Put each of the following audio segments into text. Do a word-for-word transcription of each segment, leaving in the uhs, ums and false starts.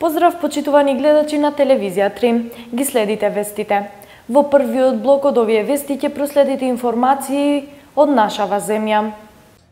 Поздрав, почитувани гледачи на телевизија три. Ги следите вестите. Во првиот блок од овие вести ќе проследите информации од нашава земја.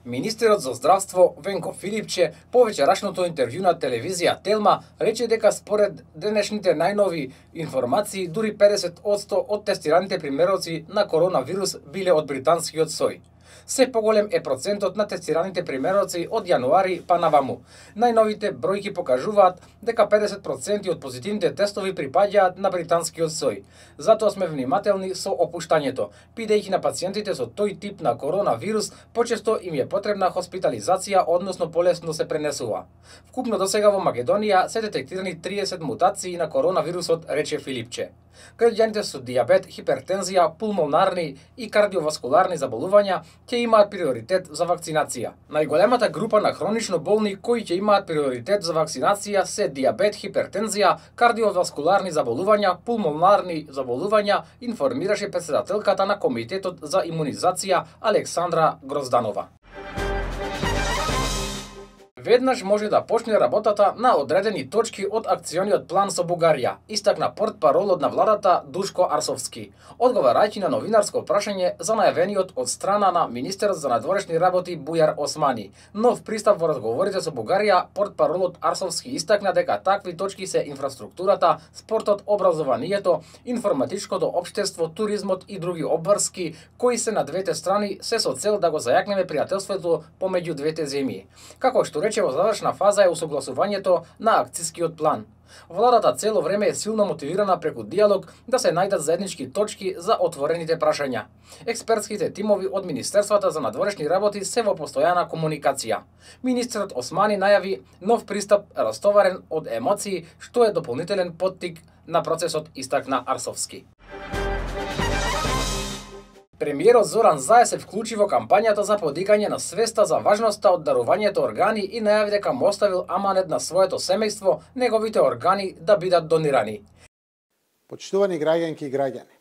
Министерот за здравство Венко Филипче по вечерашното интервју на телевизија Телма рече дека според денешните најнови информации дури педесет одсто од тестираните примероци на коронавирус биле од британскиот сој. Се поголем е процентот на тестираните примероци од јануари па наваму. Најновите бројки покажуваат дека педесет проценти од позитивните тестови припаѓаат на британскиот сој. Затоа сме внимателни со опуштањето, бидејќи на пациентите со тој тип на коронавирус почесто им е потребна хоспитализација, односно полесно се пренесува. Вкупно досега во Македонија се детектирани триесет мутации на коронавирусот, рече Филипче. Граѓаните со дијабет, хипертензија, пулмонарни и кардиоваскуларни заболувања ќе имаат приоритет за вакцинација. Најголемата група на хронично болни кои ќе имаат приоритет за вакцинација се дијабет, хипертензија, кардиоваскуларни заболувања, пулмонарни заболувања, информираше претседателката на Комитетот за имунизација Александра Грозданова. Веднаш може да почне работата на одредени точки од акциониот план со Бугарија, истакна портпаролот на владата Душко Арсовски, одговарајќи на новинарско прашање за најавениот од страна на министерот за надворешни работи Бујар Османи. Нов пристап во разговорите со Бугарија, портпаролот Арсовски истакна дека такви точки се инфраструктурата, спортот, образованието, информатичкото општество, туризмот и други обврски кои се на двете страни се со цел да го зајакнеме пријателството помеѓу двете земји. Како што рече, во завршна фаза е усогласувањето на акцискиот план. Владата цело време е силно мотивирана преку диалог да се најдат заеднички точки за отворените прашања. Експертските тимови од Министерствата за надворешни работи се во постојана комуникација. Министерот Османи најави нов пристап растоварен од емоции, што е дополнителен поттик на процесот, истакна Арсовски. Премиерот Зоран Заев се вклучи во кампањата за подигање на свеста за важноста од дарувањето органи и најави дека му оставил аманет на своето семејство неговите органи да бидат донирани. Почитувани граѓанки и граѓани,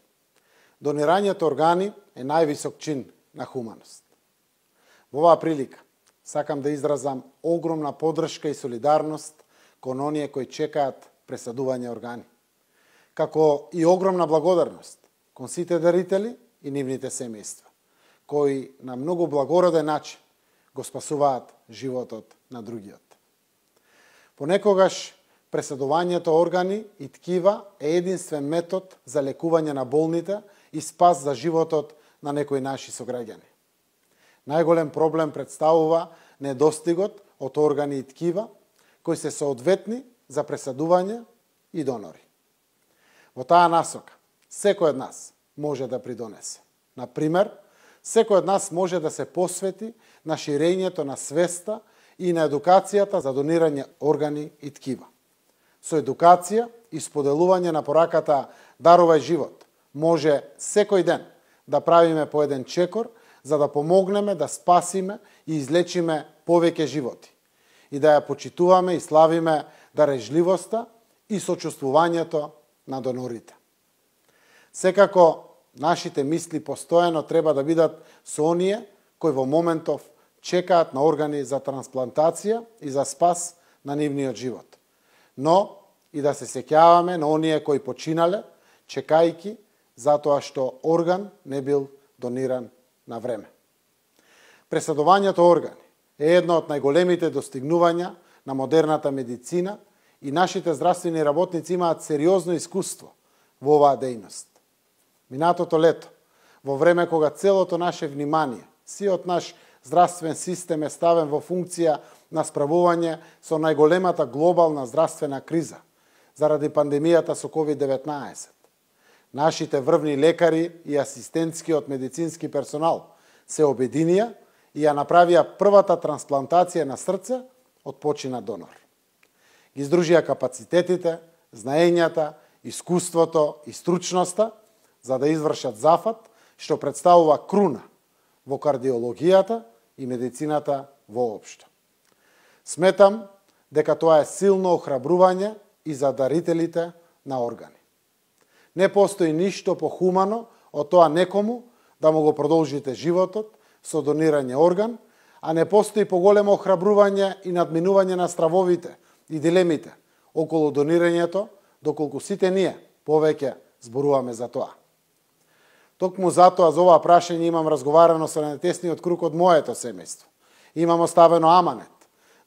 донирањето органи е највисок чин на хуманост. Во оваа прилика сакам да изразам огромна поддршка и солидарност кон оние кои чекаат пресадување органи, како и огромна благодарност кон сите дарители и нивните семејства, кои на многу благороден начин го спасуваат животот на другиот. Понекогаш пресадувањето органи и ткива е единствен метод за лекување на болните и спас за животот на некои наши сограѓани. Најголем проблем представува недостигот од органи и ткива кои се соодветни за пресадување и донори. Во таа насока секој од нас може да придонесе. Например, секој од нас може да се посвети на ширењето на свеста и на едукацијата за донирање органи и ткива. Со едукација и споделување на пораката "Дарувај живот" може секој ден да правиме по еден чекор за да помогнеме да спасиме и излечиме повеќе животи и да ја почитуваме и славиме дарежливоста и сочувствувањето на донорите. Секако, нашите мисли постојано треба да бидат со оние кои во моментов чекаат на органи за трансплантација и за спас на нивниот живот. Но и да се сеќаваме на оние кои починале, чекајки затоа што орган не бил дониран на време. Пресадувањето органи е едно од најголемите достигнувања на модерната медицина и нашите здравствени работници имаат сериозно искуство во оваа дејност. Минатото лето, во време кога целото наше внимание, сиот наш здравствен систем е ставен во функција на справување со најголемата глобална здравствена криза заради пандемијата со ковид деветнаесет. Нашите врвни лекари и асистентскиот медицински персонал се обединија и ја направија првата трансплантација на срце од починат донор. Ги издружија капацитетите, знаењата, искуството и стручноста за да извршат зафат што представува круна во кардиологијата и медицината воопшто. Сметам дека тоа е силно охрабрување и за дарителите на органи. Не постои ништо похумано од тоа некому да му го продолжите животот со донирање орган, а не постои поголемо охрабрување и надминување на стравовите и дилемите околу донирањето, доколку сите ние повеќе зборуваме за тоа. Токму затоа за ова прашање имам разговарано со најтесниот круг од моето семејство. Имам оставено аманет,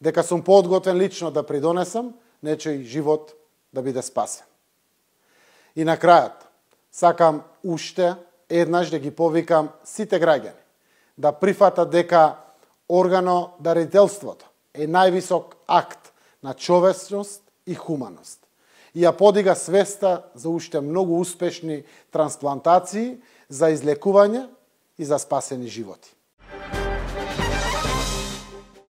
дека сум подготвен лично да придонесам нечој живот да биде спасен. И на крајот, сакам уште еднаш да ги повикам сите граѓани да прифатат дека органодарителството е највисок акт на човечност и хуманост и ја подига свеста за уште многу успешни трансплантации, за излекување и за спасени животи.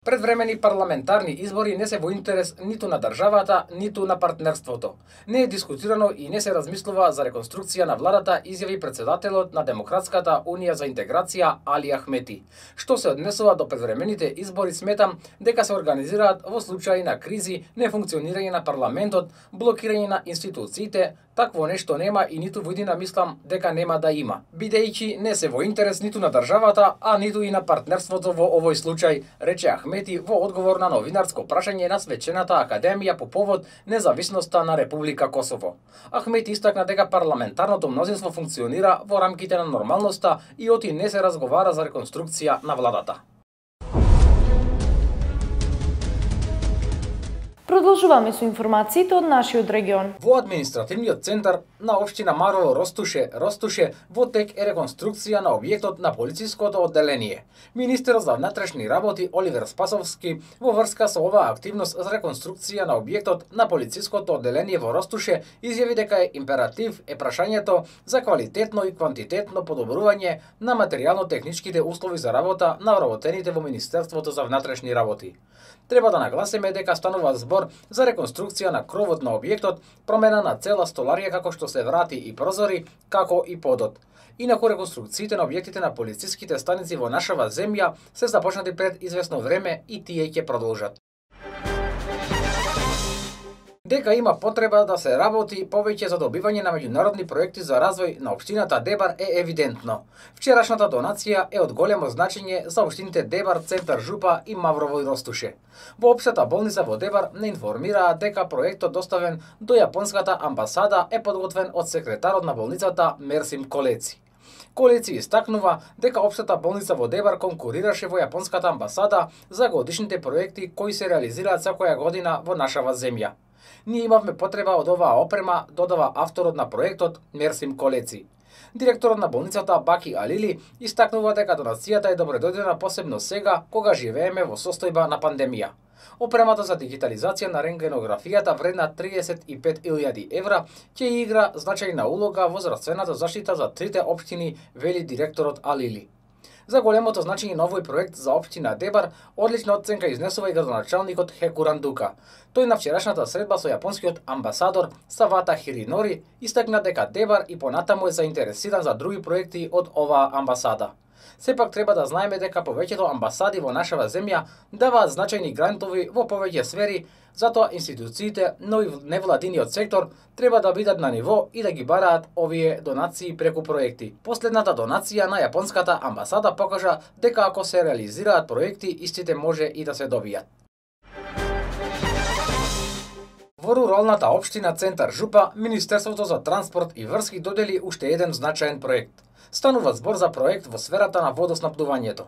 Предвремени парламентарни избори не се во интерес ниту на државата, ниту на партнерството. Не е дискутирано и не се размислува за реконструкција на владата, изјави председателот на Демократската унија за интеграција Али Ахмети. Што се однесува до предвремените избори, сметам дека се организираат во случаи на кризи, нефункционирање на парламентот, блокирање на институциите. Такво нешто нема и ниту во иднина мислам дека нема да има, бидејќи не се во интерес ниту на државата, а ниту и на партнерството во овој случај, рече Ахмети во одговор на новинарско прашање на Свечената академија по повод независноста на Република Косово. Ахмети истакна дека парламентарното мнозинство функционира во рамките на нормалноста и оти не се разговара за реконструкција на владата. Продолжуваме со информациите од нашиот регион. Во административниот центар на општина Марово Ростуше, Ростуше, во тек е реконструкција на објектот на полициското одделение. Министерот за внатрешни работи Оливер Спасовски во врска со оваа активност за реконструкција на објектот на полициското одделение во Ростуше изјави дека е императив е прашањето за квалитетно и квантитетно подобрување на материјално-техничките услови за работа на вработените во Министерството за внатрешни работи. Треба да нагласиме дека станува збор за реконструкција на кровот на објектот, промена на цела столарија како што се врати и прозори, како и подот. Инаку реконструкциите на објектите на полициските станици во нашава земја се започнати пред известно време и тие ќе продолжат. Дека има потреба да се работи повеќе за добивање на меѓународни проекти за развој на општината Дебар е евидентно. Вчерашната донација е од големо значење за општините Дебар, Центар Жупа и Маврово и Ростуше. Во општата болница во Дебар не информираа дека проектот доставен до јапонската амбасада е подготвен од секретарот на болницата Мерсим Колеци. Колеци истакнува дека општата болница во Дебар конкурираше во јапонската амбасада за годишните проекти кои се реализираат секоја година во нашава земја. Ние имавме потреба од оваа опрема, додава авторот на проектот Мерсим Колеци. Директорот на болницата Баки Алили истакнува дека донацијата е добредојдена посебно сега кога живееме во состојба на пандемија. Опремата за дигитализација на рентгенографијата вредна триесет и пет илјади евра ќе игра значајна улога во здравствената заштита за трите општини, вели директорот Алили. За големото значење на овој проект за општина Дебар, одлична оценка изнесува и градоначалникот Хекуран Дука. Тој на вчерашната средба со јапонскиот амбасадор Савата Хиринори истакна дека Дебар и понатаму е заинтересиран за други проекти од оваа амбасада. Сепак треба да знаеме дека повеќето амбасади во нашава земја даваат значајни грантови во повеќе сфери, затоа институциите, но и невладиниот сектор треба да бидат на ниво и да ги бараат овие донации преку проекти. Последната донација на јапонската амбасада покажа дека ако се реализираат проекти, истите може и да се добијат. Во руралната општина Центар Жупа, Министерството за транспорт и врски додели уште еден значаен проект. Станува збор за проект во сферата на водоснабдувањето.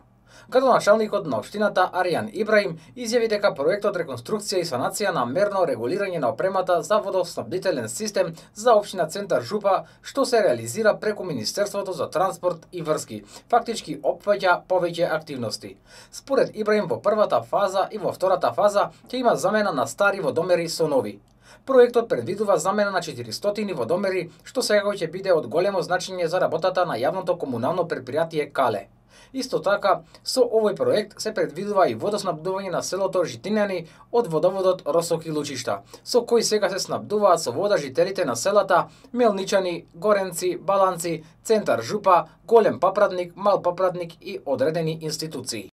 Градоначалникот на општината Аријан Ибраим изјави дека проектот реконструкција и санација на мерно регулирање на опремата за водоснабдителен систем за општина Центар Жупа, што се реализира преку Министерството за транспорт и врски, фактички опфаќа повеќе активности. Според Ибраим, во првата фаза и во втората фаза ќе има замена на стари водомери со нови. Проектот предвидува замена на четиристотини водомери, што сега ќе биде од големо значење за работата на јавното комунално претпријатие Кале. Исто така, со овој проект се предвидува и водоснабдување на селото Житињани од водоводот Росок и Лучишта, со кој сега се снабдуваат со вода жителите на селата Мелничани, Горенци, Баланци, Центар Жупа, Голем Папрадник, Мал Папрадник и одредени институции.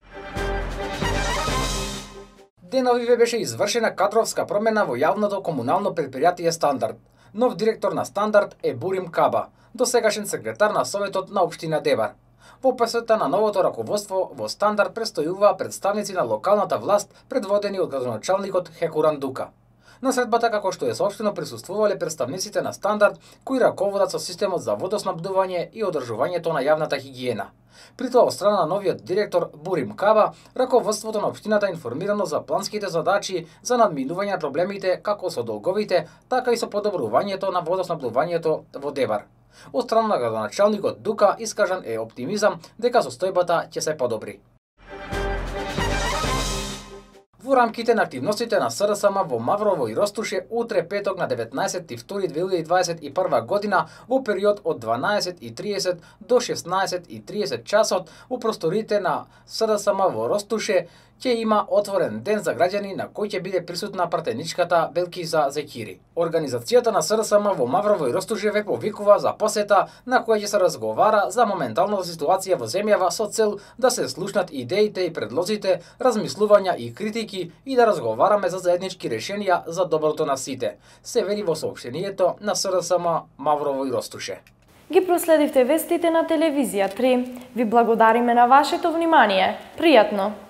Деновиве беше извршена кадровска промена во јавното комунално претпријатие Стандард. Нов директор на Стандард е Бурим Каба, досегашен секретар на Советот на општина Дебар. Во посета на новото раководство во Стандард престојуваа представници на локалната власт, предводени од градоначалникот Хекуран Дука. На средбата, како што е соопштено, присуствувале представниците на Стандард, кои раководат со системот за водоснабдување и одржувањето на јавната хигиена. При тоа, од страна на новиот директор Бурим Каба, раководството на општината информирано за планските задачи за надминување на проблемите како со долговите, така и со подобрувањето на водоснабдувањето во Дебар. Од страна на градоначалникот Дука искажан е оптимизам дека состојбата ќе се подобри. Во рамките на активностите на СРСМ во Маврово и Ростуше, утре петок на деветнаесетти втори две илјади дваесет и прва година, во период од дванаесет и тридесет до шеснаесет и тридесет часот, во просторите на СРСМ во Ростуше, ќе има отворен ден за граѓани на кој ќе биде присутна пратеничката Белкиза Зекири. Организацијата на СРСМ во Маврово и Ростуше ве повикува за посета на која ќе се разговара за моменталната ситуација во земјава со цел да се слушнат идеите и предлозите, размислувања и критики и да разговараме за заеднички решенија за доброто на сите, се вели во соопштението на СРСМ Маврово и Ростуше. Ги проследивте вестите на телевизија три. Ви благодариме на вашето внимание. Пријатно!